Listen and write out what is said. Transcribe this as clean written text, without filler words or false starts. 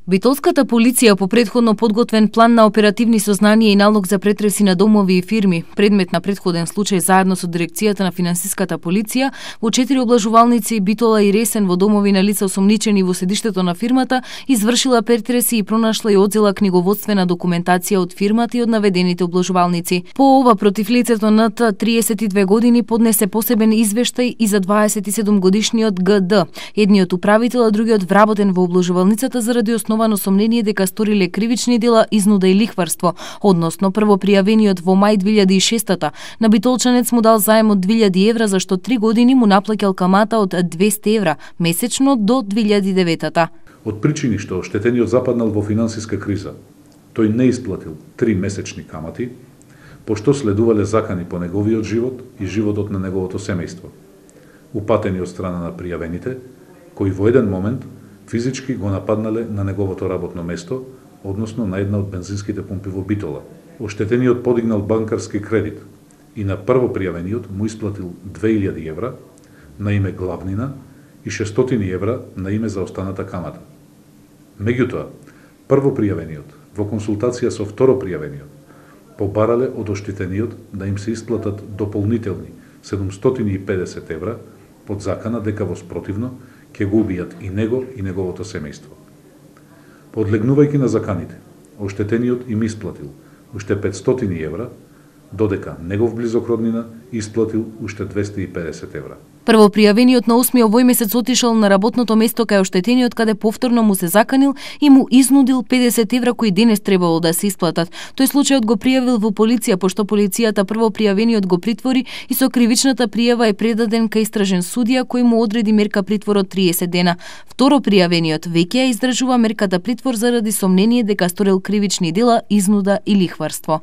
Битолската полиција по претходно подготвен план на оперативни сознанија и налог за претреси на домови и фирми, предмет на претходен случај заедно со дирекцијата на финансиската полиција, во 4 облажувалници Битола и Ресен во домови на лица осомничени во седиштето на фирмата, извршила претреси и пронашла и одзела книговодствена документација од фирмата и од наведените облажувалници. По ова против лицето над 32 години поднесе посебен извештај и за 27 годишниот ГД, едниот управител, а другиот вработен во облажувалницата заради основано сомнение дека сториле кривични дела изнуда и лихварство, односно прво пријавениот во мај 2006 на битолчанец му дал заем од 2000 евра за што 3 години му наплаќал камата од 200 евра месечно до 2009. Од причини што оштетениот западнал во финансиска криза, тој не исплатил 3 месечни камати, пошто следувале закани по неговиот живот и животот на неговото семејство, упатени од страна на пријавените, кои во еден момент физички го нападнале на неговото работно место, односно на една од бензинските пумпи во Битола. Оштетениот подигнал банкарски кредит и на прво пријавениот му исплатил 2000 евра на име главнина и 600 евра на име за останата камата. Меѓутоа, прво пријавениот во консултација со второ пријавениот побарале од оштетениот да им се исплатат дополнителни 750 евра под закана дека во спротивно ќе го убијат и него и неговото семејство. Подлегнувајќи на заканите, оштетениот им исплатил уште 500 евра, додека негов близок роднина исплатил уште 250 евра. Прво пријавениот на 8 овој месец отишол на работното место кај оштетениот каде повторно му се заканил и му изнудил 50 евра кои денес требало да се исплатат. Тој случајот го пријавил во полиција, пошто полицијата прво пријавениот го притвори и со кривичната пријава е предаден кај истражен судија кој му одреди мерка притвор од 30 дена. Второ пријавениот веќе ја издржува мерката притвор заради сомнение дека сторил кривични дела, изнуда и лихварство.